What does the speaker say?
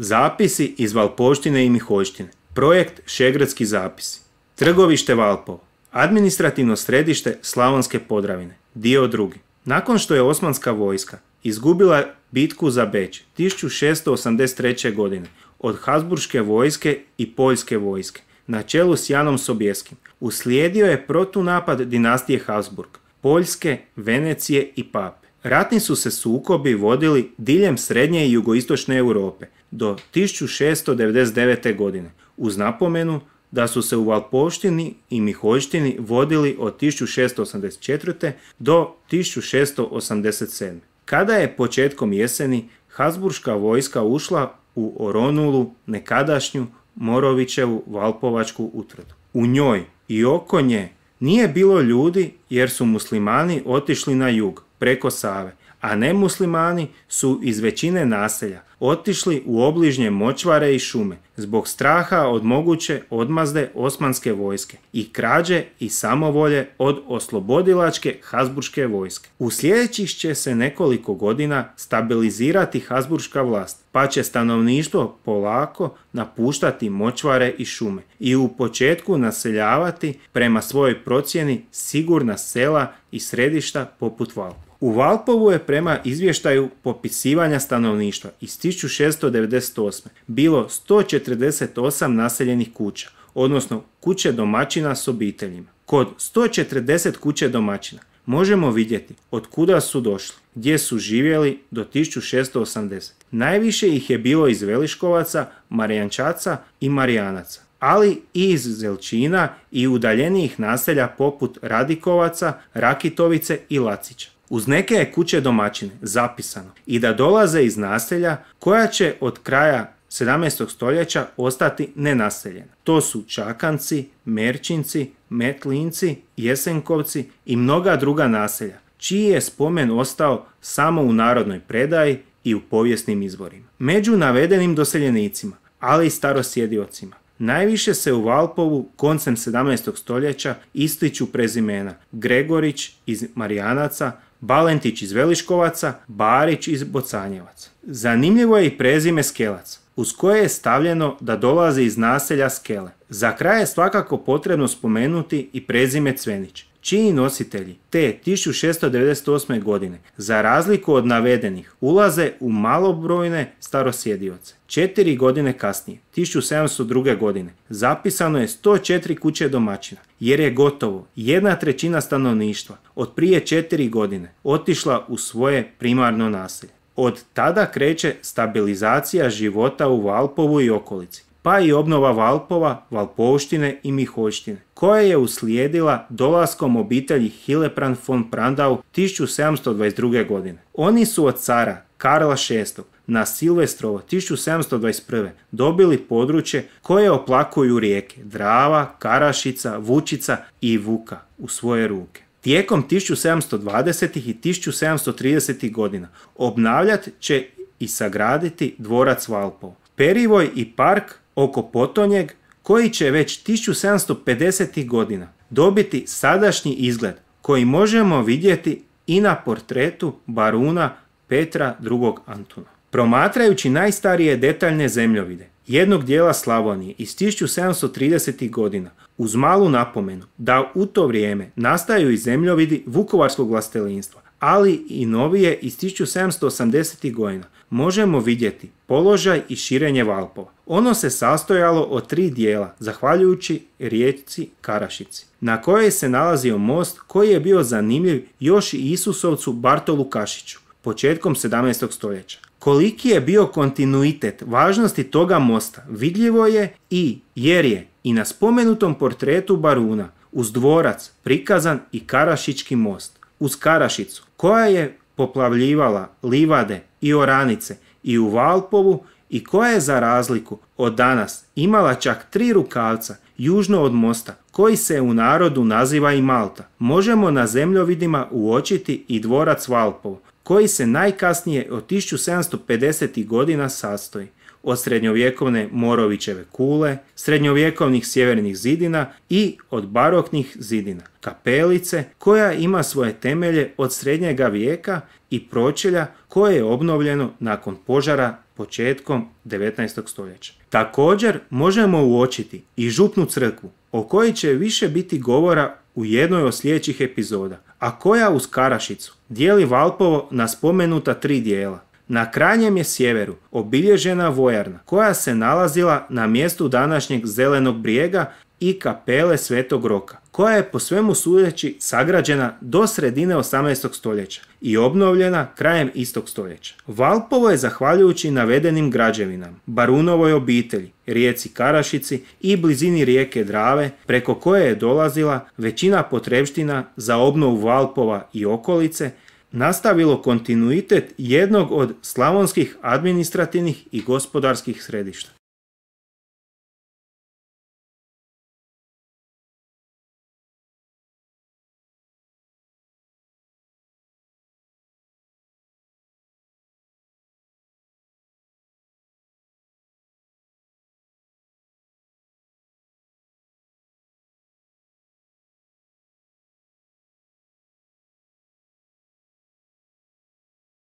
Zapisi iz Valpovštine i Miholjštine. Projekt Šegradski zapisi. Trgovište Valpovo. Administrativno središte Slavonske Podravine. Dio 2. Nakon što je osmanska vojska izgubila bitku za Beč 1683. godine od Habsburške vojske i Poljske vojske na čelu s Janom Sobjeskim, uslijedio je protunapad dinastije Habsburg, Poljske, Venecije i Pape. Ratni su se sukobi vodili diljem srednje i jugoistočne Europe do 1699. godine, uz napomenu da su se u Valpovštini i Miholjštini vodili od 1684. do 1687. Kada je početkom jeseni Habsburška vojska ušla u oronulu nekadašnju Morovićevu Valpovačku utvrdu. U njoj i oko nje nije bilo ljudi jer su muslimani otišli na jug preko Save, a nemuslimani su iz većine naselja otišli u obližnje močvare i šume zbog straha od moguće odmazde osmanske vojske i krađe i samovolje od oslobodilačke Habsburške vojske. U sljedećih će se nekoliko godina stabilizirati Habsburška vlast, pa će stanovništvo polako napuštati močvare i šume i u početku naseljavati prema svojoj procjeni sigurna sela i središta poput Valpova. U Valpovu je prema izvještaju popisivanja stanovništva iz 1698. bilo 148 naseljenih kuća, odnosno kuće domaćina s obiteljima. Kod 140 kuće domaćina možemo vidjeti od kuda su došli, gdje su živjeli do 1680. Najviše ih je bilo iz Veliškovaca, Marijančaca i Marijanaca, ali i iz Zelčina i udaljenijih naselja poput Radikovaca, Rakitovice i Lacića. Uz neke je kuće domaćine zapisano i da dolaze iz naselja koja će od kraja 17. stoljeća ostati nenaseljena. To su Čakanci, Merčinci, Metlinci, Jesenkovci i mnoga druga naselja, čiji je spomen ostao samo u narodnoj predaji i u povijesnim izvorima. Među navedenim doseljenicima, ali i starosjediocima, najviše se u Valpovu koncem 17. stoljeća ističu prezimena Gregorić iz Marijanaca, Balentić iz Veliškovaca, Barić iz Bocanjevaca. Zanimljivo je i prezime Skelac, uz koje je stavljeno da dolazi iz naselja Skele. Za kraj je svakako potrebno spomenuti i prezime Cvenić, čiji nositelji te 1698. godine, za razliku od navedenih, ulaze u malobrojne starosjedioce. 4 godine kasnije, 1702. godine, zapisano je 104 kuće domaćina, jer je gotovo 1/3 stanovništva od prije 4 godine otišla u svoje primarno naselje. Od tada kreće stabilizacija života u Valpovu i okolici, pa i obnova Valpova, Valpovštine i Miholjštine, koja je uslijedila dolaskom obitelji Hillebrand von Prandau 1722. godine. Oni su od cara Karla VI na Silvestrovo 1721. dobili područje koje oplakuju rijeke Drava, Karašica, Vučica i Vuka u svoje ruke. Tijekom 1720. i 1730. godina obnavljat će i sagraditi dvorac Valpovo, perivoj i park oko potonjeg, koji će već 1750. godina dobiti sadašnji izgled koji možemo vidjeti i na portretu baruna Petra II. Antuna. Promatrajući najstarije detaljne zemljovide jednog dijela Slavonije iz 1730. godina, uz malu napomenu da u to vrijeme nastaju i zemljovidi Vukovarskog vlastelinstva, ali i novije iz 1780. godina, možemo vidjeti položaj i širenje Valpova. Ono se sastojalo od 3 dijela, zahvaljujući rijeci Karašici, na kojoj se nalazio most koji je bio zanimljiv još i Isusovcu Bartolu Kašiću, početkom 17. stoljeća. Koliki je bio kontinuitet važnosti toga mosta vidljivo je jer je i na spomenutom portretu baruna uz dvorac prikazan i Karašički most. Uz Karašicu, koja je poplavljivala livade i oranice i u Valpovu i koja je za razliku od danas imala čak 3 rukavca južno od mosta, koji se u narodu naziva i Malta, možemo na zemljovidima uočiti i dvorac Valpovo, koji se najkasnije od 1750. godina sastoji od srednjovjekovne Morovićeve kule, srednjovjekovnih sjevernih zidina i od baroknih zidina, kapelice koja ima svoje temelje od srednjega vijeka i pročelja koje je obnovljeno nakon požara početkom 19. stoljeća. Također možemo uočiti i župnu crkvu, o kojoj će više biti govora u jednoj od sljedećih epizoda, a koja uz Karašicu dijeli Valpovo na spomenuta 3 dijela. Na krajnjem je sjeveru obilježena vojarna koja se nalazila na mjestu današnjeg Zelenog brijega i kapele Svetog Roka, koja je po svemu sudeći sagrađena do sredine 18. stoljeća i obnovljena krajem istog stoljeća. Valpovo je zahvaljujući navedenim građevinama, barunovoj obitelji, rijeci Karašici i blizini rijeke Drave, preko koje je dolazila većina potrepština za obnovu Valpova i okolice, nastavilo kontinuitet jednog od slavonskih administrativnih i gospodarskih središta.